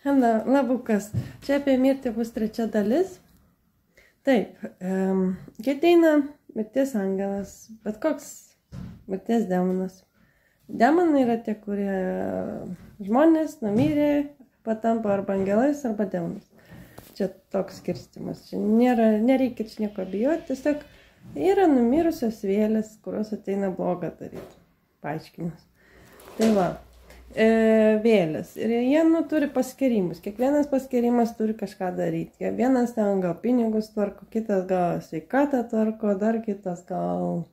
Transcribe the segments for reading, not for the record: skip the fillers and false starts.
Na, labukas. Čia apie mirtį bus 3 dalis. Taip, kai ateina mirties angelas, bet koks mirties demonas. Demonai yra tie, kurie žmonės numirė, patampa arba angelais, arba demonais. Čia toks skirstimas. Čia nereikia čia nieko bijoti, tiesiog yra numirusios vėlės, kurios ateina blogą daryti. Paaiškinas. Tai va. Vėlės. Ir jie turi paskirimus. Kiekvienas paskirimas turi kažką daryti. Vienas ten gal pinigus tvarko, kitas gal sveikatą tvarko, dar kitas gal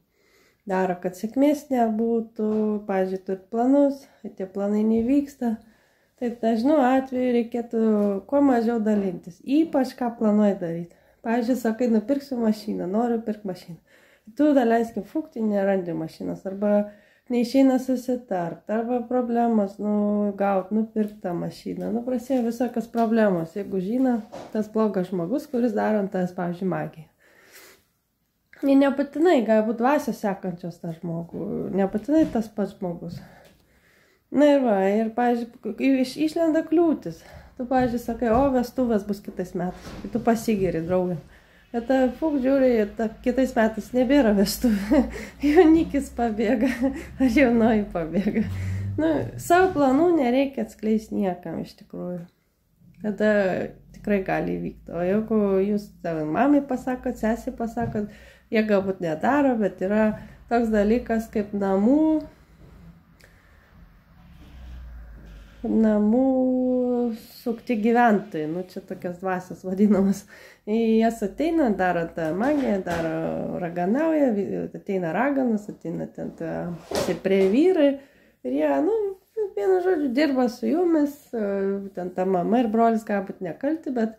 daro, kad sėkmės nebūtų. Pavyzdžiui, turi planus, tie planai nevyksta. Tai dažnu atveju reikėtų kuo mažiau dalintis. Ypač ką planuoji daryti. Pavyzdžiui, sakai, nupirksiu mašiną, noriu pirkti mašiną. Tu daleiskim fukti, nerandi mašinos arba neišeina susitart, arba problemos, gaut, nupirktą mašiną. Prasidėjo visokios problemos, jeigu žino tas blogas žmogus, kuris daro ant tas, pavyzdžiui, magiją. Ir nebūtinai, galbūt dvasios sekančios tą žmogų, nebūtinai tas pats žmogus. Na ir va, ir, pavyzdžiui, išlenda kliūtis. Tu, pavyzdžiui, sakai, o vestuvės bus kitais metais, ir tu pasigiri draugėm. Bet žiūri, kitais metais nebėra vestuvė, jaunikis pabėga, ar jaunoji pabėga. Savo planų nereikia atskleisti niekam iš tikrųjų. Tada tikrai gali įvykti. O jeigu jūs mamai pasakot, sesiai pasakot, jie galbūt nedaro, bet yra toks dalykas kaip namų sukti gyventojai, čia tokias dvasios vadinamas. Jas ateina, daro tą magiją, daro raganauja, ateina raganas, ateina ten stiprie vyrai ir jie, vienu žodžiu, dirba su jumis, ten ta mama ir brolis galbūt nekalti, bet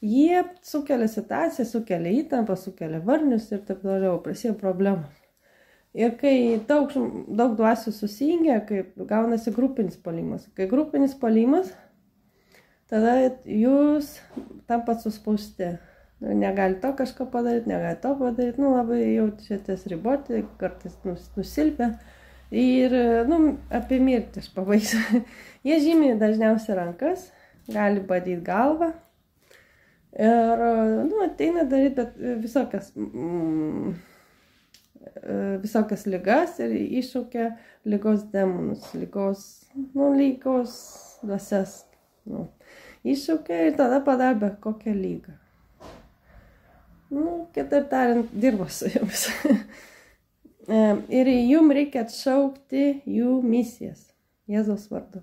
jie sukelia situaciją, sukelia įtampą, sukelia varnius ir taip toliau, prasidėjo problemos. Ir kai daug dvasių susijungia, kai gaunasi grupinis puolimas. Kai grupinis puolimas, tada jūs tampat suspausti. Negali to kažko padaryti, negali to padaryti, labai jaučiatės riboti, kartais nusilpia. Ir, apie mirtį aš pabaigsiu. Jie žymiai dažniausiai rankas, gali badyti galvą. Ir, ateina daryti, bet visokias ligas ir iššaukia ligos demonus, ligos dvasias. Iššaukia ir tada padaro bet kokią lygą. Kitaip tariant, dirbo su jums. Ir jums reikia atšaukti jų misijas Jėzaus vardu.